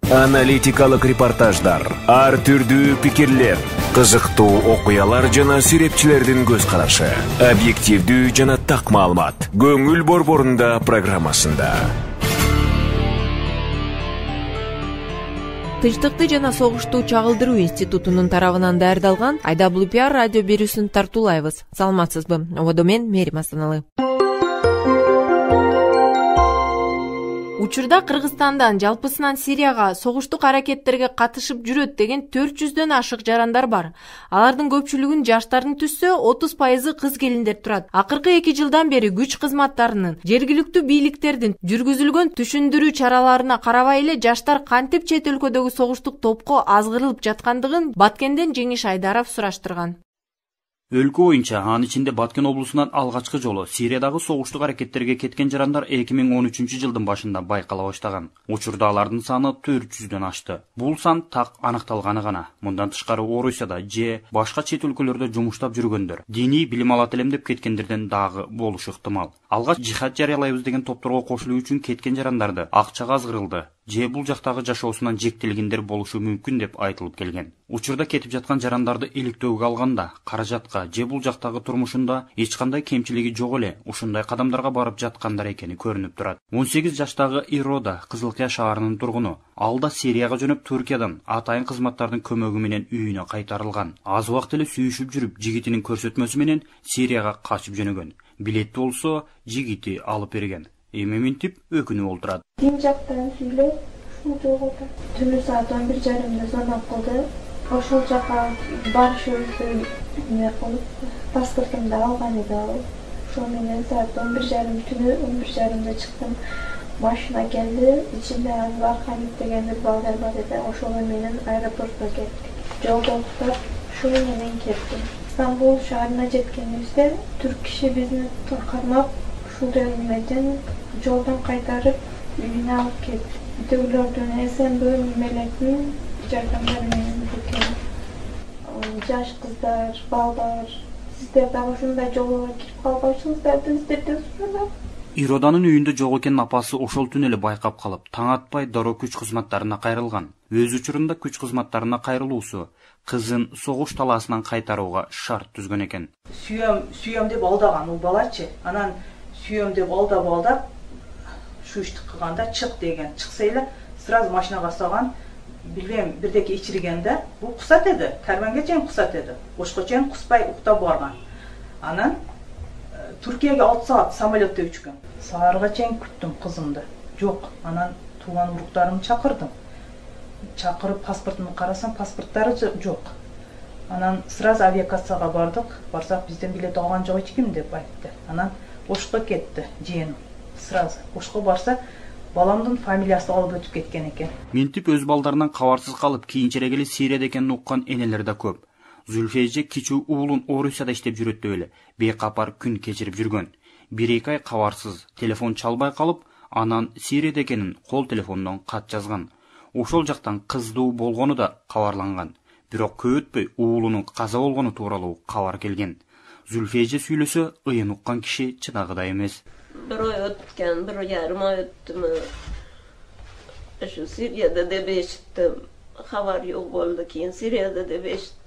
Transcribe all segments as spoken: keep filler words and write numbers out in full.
Аналитикалык репортаждар, ар түрдүү пикирлер, кызыктуу окуялар жана сүрөтчүлөрдүн көз карашы, объективдүү жана так маалымат. Көңүл борборунда программасында. Тынчтыкты жана согушту чагылдыруу институтунун тарабынан даярдалган ай дабл ю пи ар радио берүүсүн тартуулайбыз. Саламатсызбы? Ободо мен Мерим Астаналы. Учурда Кыргызстандан жалпысынан Сирияга согуштук аракеттерге катышып жүрөт деген төрт жүздөн ашык жарандар бар. Алардын көпчүлүгүн жаштардын түссө отуз пайызы кыз келиндер турат. Акыркы эки жылдан бери күч кызматтарынын, жергиликтүү бийликтердин жүргүзүлгөн түшүндүрүү чараларына карабай эле жаштар кантип чет өлкөдөгү согуштук топко азгырылып жаткандыгын Баткенден Жеңиш Айдаров сураштырган. Өлкө боюнча, анын ичинде Баткен облусунан алгачкы жолу Сириядагы согуштук аракеттерге кеткен жарандар эки миң он үчүнчү жылдын башында байкала баштаган. Учурда алардын саны төрт жүздөн ашты. Бул сан так аныкталганы гана. Мындан тышкары Орусияда же башка чет өлкөлөрдө жумуштап жүргөндөр, диний билим алат элем деп кеткендерден дагы болушу ыктымал. Алгач жихад жарыялайбыз деген топторго кошулуу үчүн кеткен жарандарды акчага азгырылды же бул жактагы жашоосунан жектелгендер болушу мүмкүн деп айтылып келген. Учурда кетип жаткан жарандарды иликтөөгө алганда, каражатка же бул жактагы турмушунда эч кандай кемчилиги жок эле ушундай кадамдарга барып жаткандар экени көрүнүп турат. он сегиз жаштагы Ирода Кызылкыя шаарынын тургуну. Ал да Сирияга жөнөп Түркиядан атайын кызматтардын көмөгү менен үйүнө кайтарылган. Аз убакыт эле сүйүшүп жүрүп, жигитинин көрсөтмөсү менен Сирияга качып жөнөгөн. Билетти болсо жигити алып берген. Эми минтип өкүнүп олтурат. Дин жактан сүйлөп, ушул жолго түнү саат он бир жарымда звонок кылды. Ошол жака барышыбызды эмне кылып, паспортумду алган эди ал. Ошол менен саат он бир жарым түнү он бир жарымда чыктым. Машина келди, ичинде Архамит деген бир балдар бар эди. Ошол менен аэропортко кеттик. Жолдо уктап, ушул менен кеттим. Стамбул шаарына жеткенибизде түрк киши бизди кармап, ушул эмеден жолдон кайтарып үйүнө алып кетти. Төгүлөрдүн СМБ мелектин жардамдары менен кеткен. Жаш кыздар, балдар, сиздер дагы ушундай жолго кирип калбайсыңыздарды сиздерден сурайм. Ироданын үйүндө жок экенин апасы ошол түнү эле байкап калып, таң атпай дароо күч кызматтарына кайрылган. Өз учурунда күч кызматтарына кайрылуусу кызын согуш талаасынан кайтарууга шарт түзгөн экен. Сүйөм, сүйөм деп алдаган ул балачы. Анан сүйөм деп алдап алдап шу ишти кылганда чык деген. Чыкса эле сразу машинага салган. Билбейм, бирдеке ичиргенде бул кусат эди. Карманга чейин кусат эди. Ошко чейин куспай уктап барган. Анан Түркияга алты саат самолетте учкан. Саарга чейин күттүм кызымды. Жок, анан тууган уруктарымды чакырдым. Чакырып паспортумду карасам, паспорттары жок. Анан сразу авиакассага бардык. Барсак бизден билет алган жок эч ким деп айтты. Анан Ошко кетти жыйыным. Сразу Ошко барса, баламдын фамилиясы алып өтүп кеткен экен. Минтип өз балдарынан кабарсыз калып, кийинчерээк эле Сирияда экенин уккан энелер да көп. Зүлфейже кичүү уулун Орусияда иштеп жүрөт деп эле бейкапар күн кечирип жүргөн. бир эки ай кабарсыз, телефон чалбай калып, анан Сирияда экенин кол телефондон кат жазган. Ошол жактан кыздуу болгону да кабарланган. Бирок көп өтпөй уулунун каза болгону тууралуу кабар келген. Зүлфейже сүйлөсө, ыйын уккан киши чыдагыдай эмес. Bir oy ötken, bir yarım oy öttü mü? Şu Siriyada da beşittim. Haber yok oldu ki, Siriyada da beşittim.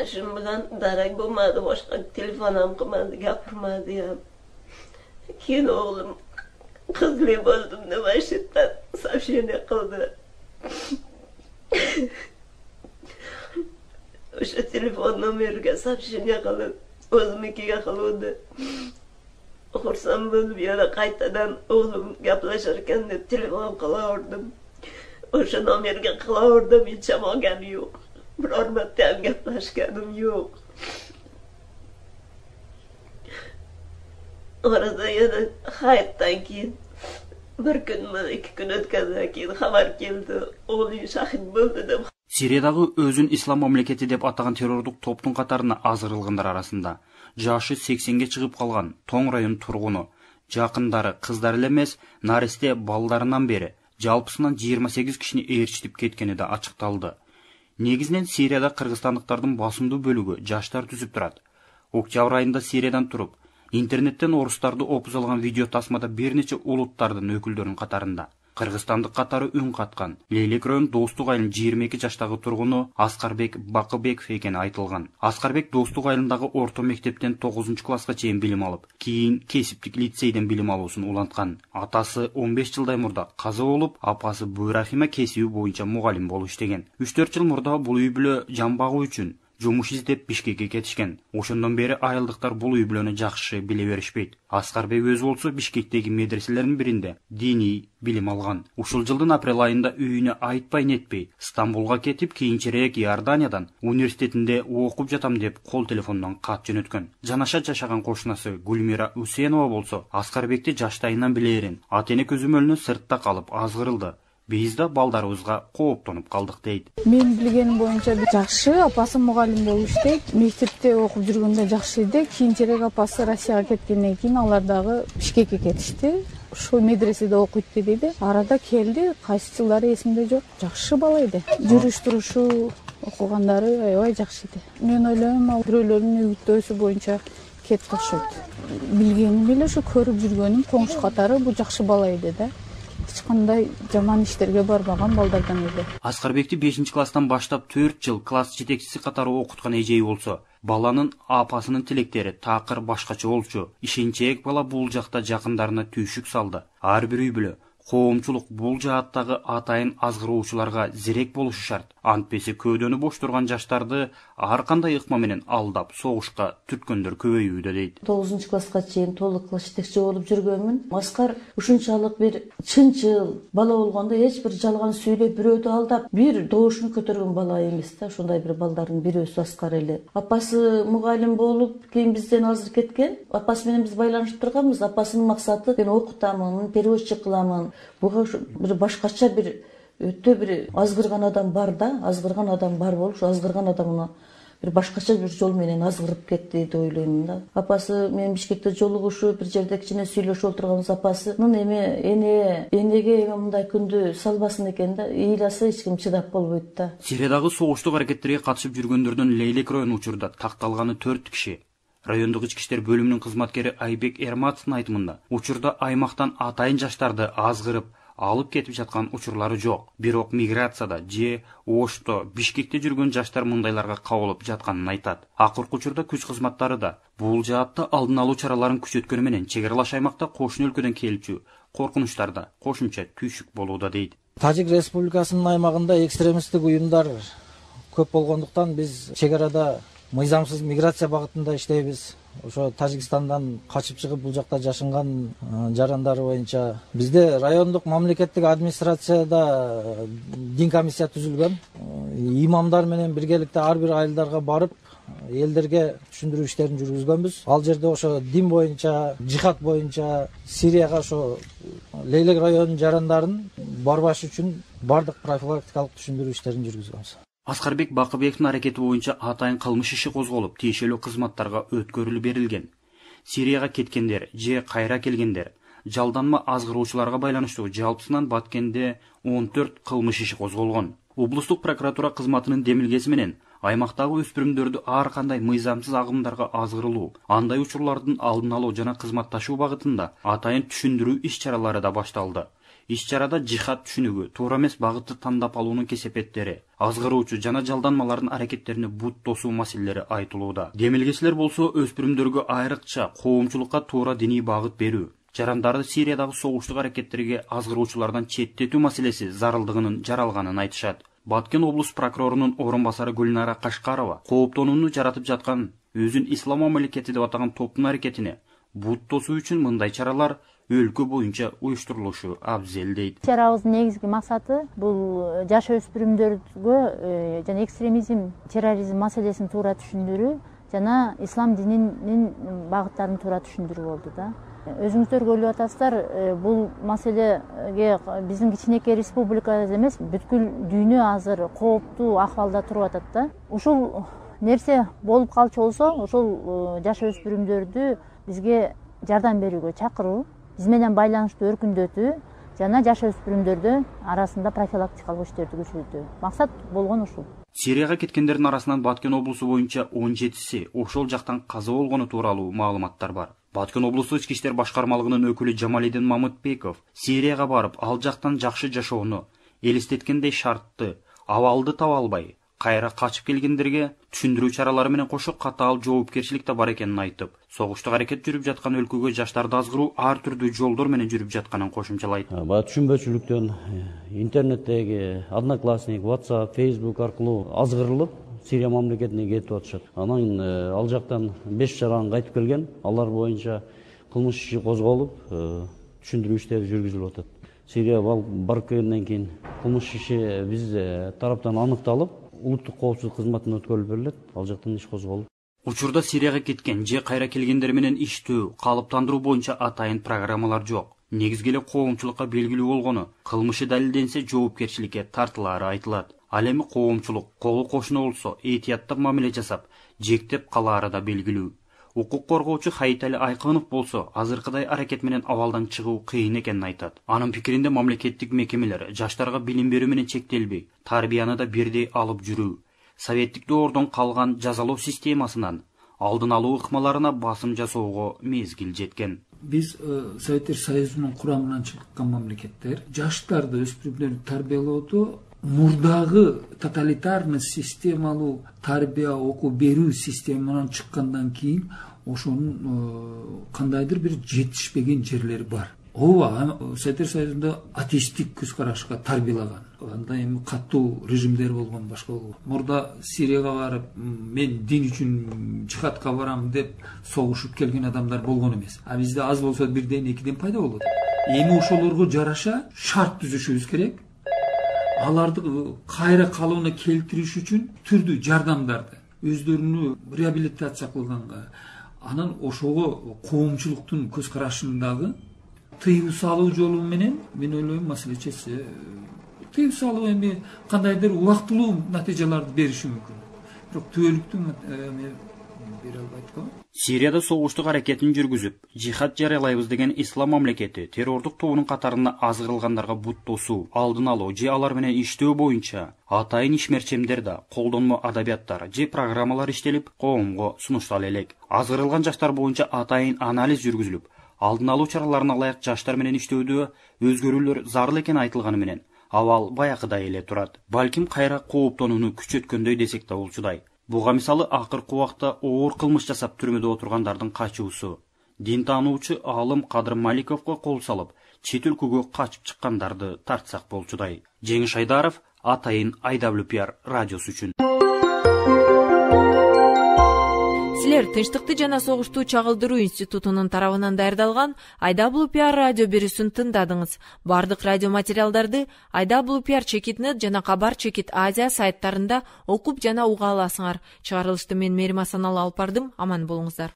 Şimdi buradan daray bulmadı, başka telefonum kılmadı, yapırmadı ya. Keyin oğlum kızlı bozdum da başlıktan savşene kıldı. Şu telefon numarıga savşene kılıp, özümünkige kılıyordu. Okursam böyle bir ara kaytadan oğlum yaplaşırken de telefon kılaırdım. Oşu numarıga kılaırdım, hiç amagam yok. Bir hormatdan yaplaşkanım yok. Orada yana hayattan keyin bir gün mü iki gün ötkenden keyin haber geldi. Oğlu şahit buldu da. Сириядагы өзүн ислам мамлекети деп атаган террордук топтун катарына азырылгандар арасында жашы сексенге чыгып калган Тоң район тургуну, жакындары кыздар эле эмес, наристе балдарынан бери жалпысынан жыйырма сегиз кишини ээрчитип кеткени да ачыкталды. Негизинен Сирияда кыргызстандыктардын басымдуу бөлүгү жаштар түзүп турат. Октябрь айында Сириядан туруп, интернеттен орустарды опуз алган видео тасмада бир нече улуттардын өкүлдөрүнүн катарында Кыргызстандык катары үн каткан Лейлек район Достук айылынын жыйырма эки жаштагы тургуну Аскарбек Бакыбеков экени айтылган. Аскарбек Достук айылындагы орто мектептен тогузунчу класска чейин билим алып, кийин кесиптик лицейден билим алуусун уланткан. Атасы он беш жылдай мурда каза болуп, апасы Буйрахима кесиби боюнча мугалим болуп иштеген. үч төрт жыл мурда бул үй бүлө жан багуу үчүн жумуш издеп Бишкекке кетишкен. Ошондон бери айылдыктар бул үй бүлөнү жакшы биле беришпейт. Аскарбек өзү болсо Бишкектеги медреселердин биринде диний билим алган. Ушул жылдын апрель айында үйүнө айтпай нетпей Стамбулга кетип, кийинчерээк Иорданиядан университетинде окуп жатам деп кол телефондон кат жөнөткөн. Жанаша жашаган кошунасы Гүлмира Усенова болсо Аскарбекти жаштайынан билерин. Ата-эне көзөмөлүнө сыртта калып азгырылды. Биз да балдарыбызга кооптонуп калдык дейт. Мен билгеним боюнча жакшы, апасы мугалим болуп иштейт. Мектепте окуп жүргөндө жакшы эле. Кийинчерээк апасы Россияга кеткенден кийин алар дагы Бишкекке кетишти. Ушул медреседе окуйт дейди. Арада келди, кайсы жылдары эсимде жок. Жакшы бала эди. Жүрүш турушу, окугандары аябай жакшы эди. Мен ойлойм, ал бирөөлөрдүн үгүттөөсү боюнча кетти окшойт. Билгеним эле ушу көрүп жүргөнүм коңшу катары бул жакшы бала эди да. Эч кандай жаман иштерге барбаган балдардан эле. Аскарбекти бешинчи класстан баштап төрт жыл класс жетекчиси катары окуткан эжеи болсо, баланын апасынын тилектери такыр башкача болчу. Ишенчээк бала бул жакта жакындарына түйшүк салды. Ар бир үй бүлө, коомчулук бул жааттагы атайын азгыруучуларга зерек болушу шарт. Антпесе көөдөнү бош турган жаштарды ар кандай ыкма менен алдап, согушка түрткөндөр көбөйүүдө дейт. тогузунчу класска чейин толук класс жетекчи болуп жүргөнмүн. Аскар ушунчалык бир чынчыл бала болгондо эч бир жалган сүйлөп, бирөөдү алдап, бир добушун көтөргөн бала эмес да. Ошондой бир балдардын бирөөсү Аскар эле. Апасы мугалим болуп, кийин бизден азыр кеткен. Апасы менен биз байланышып турганбыз. Апасынын максаты мен окутамын, переводчик кыламын. Буга бир башкача бир өтө бир азгырган адам бар да, азгырган адам бар болуп, ушу азгырган адамына бир башкача бир жол менен азгырып кетти деп ойлойм да. Апасы мен Бишкекте жолугушуп, бир жерде кичине сүйлөшүп отурганбыз. Апасынын эме эне энеге эме мындай күндү салбасын экен да, ыйласа эч ким чыдап болбойт да. Сириядагы согуштук аракеттерге катышып жүргөндөрдөн Лейлек район учурда такталганы төрт киши. Райондук ички иштер бөлүмүнүн кызматкери Айбек Эрматовдун айтымында, учурда аймактан атайын жаштарды азгырып алып кетип жаткан учурлары жок. Бирок миграцияда же Ошто, Бишкекте жүргөн жаштар мындайларга кабылып жатканын айтат. Акыркы учурда күч кызматтары да бул жаатта алдын алуу чараларын күчөткөнү менен чек аралаш аймакта кошуна өлкөдөн келчү коркунучтарда кошумча түйшүк болууда дейт. Тажик Республикасынын аймагында экстремисттик уюмдар көп болгондуктан биз чек арада мыйзамсыз миграция багытында иштейбиз. Ошо Тажикстандан качып чыгып бул жакта жашынган жарандары боюнча бизде райондук мамлекеттик администрацияда дин комиссия түзүлгөн. Имамдар менен биргеликте ар бир айылдарга барып, элдерге түшүндүрүү иштерин жүргүзгөнбүз. Ал жерде ошо дин боюнча, жихад боюнча Сирияга ошо Лейлек районунун жарандарын барбаш үчүн бардык профилактикалык түшүндүрүү иштерин жүргүзгөнбүз. Аскарбек Бакыбековдун аракети боюнча атайын кылмыш иши козголуп, тиешелүү кызматтарга өткөрүлүп берилген. Сирияга кеткендер же кайра келгендер, жалданма азгыруучуларга байланыштуу жалпысынан Баткенде он төрт кылмыш иши козголгон. Облустук прокуратура кызматынын демилгеси менен аймактагы өспүрүмдөрдү ар кандай мыйзамсыз агымдарга азгырылуу, андай учурлардын алдын алуу жана кызматташуу багытында атайын түшүндүрүү иш-чаралары да башталды. Иш-чарада жихад түшүнүгү, туура эмес багытты тандап алуунун кесепеттери, азгыруучу жана жалданмалардын аракеттерине бут тосуу маселелери айтылууда. Демилгечилер болсо өспүрүмдөргө айрыкча коомчулукка туура диний багыт берүү, жарандарды Сириядагы согуштук аракеттерге азгыруучулардан четтетүү маселеси зарылдыгынын жаралганын айтышат. Баткен облус прокурорунун орун басары Гүлнара Кашкарова кооптонууну жаратып жаткан өзүн ислам мамлекети деп атаган топтун аракетине бут тосуу үчүн мындай чаралар өлкө боюнча уюштурулушу абзел дейт. Чарабыздын негизги максаты бул жаш өспүрүмдөргө жана экстремизм, терроризм маселесин туура түшүндүрүү жана ислам дининин багыттарын туура түшүндүрүү болду да. Өзүңүздөр көрүп атасыздар, бул маселеге биздин кичинекей республика эмес, бүткүл дүйнө азыр кооптуу акыбалда туруп атат да. Ушул нерсе болуп калчу болсо, ошол жаш өспүрүмдөрдү бизге жардам берүүгө чакыруу, биз менен байланышты өркүндөтүү жана жаш өспүрүмдөрдү арасында профилактикалык иштерди күчөтүү. Максат болгон ушул. Сирияга кеткендердин арасынан Баткен облусу боюнча он жетиси ошол жактан каза болгону тууралуу маалыматтар бар. Баткен облустук ички иштер башкармалыгынын өкүлү Жамалидин Мамытбеков Сирияга барып, ал жактан жакшы жашоону, элестеткендей шартты, абалды таба албай, кайра качып келгендерге түшүндүрүү чаралары менен кошо катаал жоопкерчилик да бар экенин айтып, согуштук аракет жүрүп жаткан өлкөгө жаштарды азгыруу ар түрдүү жолдор менен жүрүп жатканын кошумчалайт. Баягы түшүнбөчүлүктөн интернеттеги Одноклассник, WhatsApp, Facebook аркылуу азгырылып Сирия мамлекетине кетип атышат. Анан ал жактан беш жаран кайтып келген, алар боюнча кылмыш иши козголуп, түшүндүрүү иштери жүргүзүлүп атат. Сирия барып келгенден кийин кылмыш иши биз тараптан аныкталып, улуттук коопсуздук кызматына өткөрүлүп берилет, ал жактан иш козголуп. Учурда Сирияга кеткен же кайра келгендер менен иштөө, калыптандыруу боюнча атайын программалар жок. Негизги эле коомчулукка белгилүү болгону, кылмышы далилденсе жоопкерчиликке тартылаары айтылат. Ал эми коомчулук колу кошуна болсо этияттап мамиле жасап, жектеп калаары да белгилүү. Укук коргоочу Хайтали Айкынов болсо азыркыдай аракет менен абалдан чыгуу кыйын экенин айтат. Анын пикиринде мамлекеттик мекемелер жаштарга билим берүү менен чектелбей, тарбияны да бирдей алып жүрүү, советтик доордон калган жазалоо системасынан алдын алуу ыкмаларына басым жасоого мезгил жеткен. Биз Советтер Союзунун курамынан чыккан мамлекеттер жаштарды, өспүрүмдөрдү тарбиялоодо мурдагы тоталитарный системалуу тарбия окуу берүү системанан чыккандан кийин ошонун кандайдыр бир жетишпеген жерлери бар. Ооба, Советтер Союзунда атеисттик көз карашка тарбиялаган. Анда эми катуу режимдер болгон, башка болгон. Мурда Сирияга барып, мен дин үчүн жихадка барам деп согушуп келген адамдар болгон эмес. А бизде аз болсо бирден экиден пайда болот. Эми ошолорго жараша шарт түзүшүбүз керек. Аларды кайра калууна келтириш үчүн түрдүү жардамдарды, өздөрүнү реабилитация кылганга, анан ошого коомчулуктун көз карашындагы тыюу салуу жолу менен мен ойлойм маселе чечсе. Тыюу салуу эми кандайдыр убактылуу натыйжаларды бериши мүмкүн. Бирок түбөлүктүү бере албайт го. Сирияда согуштук аракетин жүргүзүп, жихад жарыялайбыз деген ислам мамлекети террордук тобунун катарына азгырылгандарга бут тосуу, алдын алуу же алар менен иштөө боюнча атайын ишмерчемдер да, колдонмо адабияттар же программалар иштелип, коомго сунуштала элек. Азгырылган жаштар боюнча атайын анализ жүргүзүлүп, алдын алуу чараларына ылайык жаштар менен иштөөдө өзгөрүүлөр зарыл экени айтылганы менен абал баягыдай эле турат. Балким кайра кооптонууну күчөткөндөй десек да болчудай. Буга мисалы акыркы убакта оор кылмыш жасап түрмөдө отургандардын качуусу. Дин таануучу Алым Кадыр Маликовго кол салып, чет өлкөгө качып чыккандарды тартсак болчудай. Жеңиш Айдаров, Атайын ай дабл ю пи ар радиосу үчүн. Силер Тынчтыкты жана согушту чагылдыруу институтунун тарабынан даярдалган ай дабл ю пи ар радио берүүсүн тыңдадыңыз. Бардык радио материалдарды ай дабл ю пи ар чекит нет жана Кабар чекит Азия сайттарында окуп жана уга аласыңар. Чыгарылышты мен Мерим Асаналы алып бардым. Аман болуңуздар.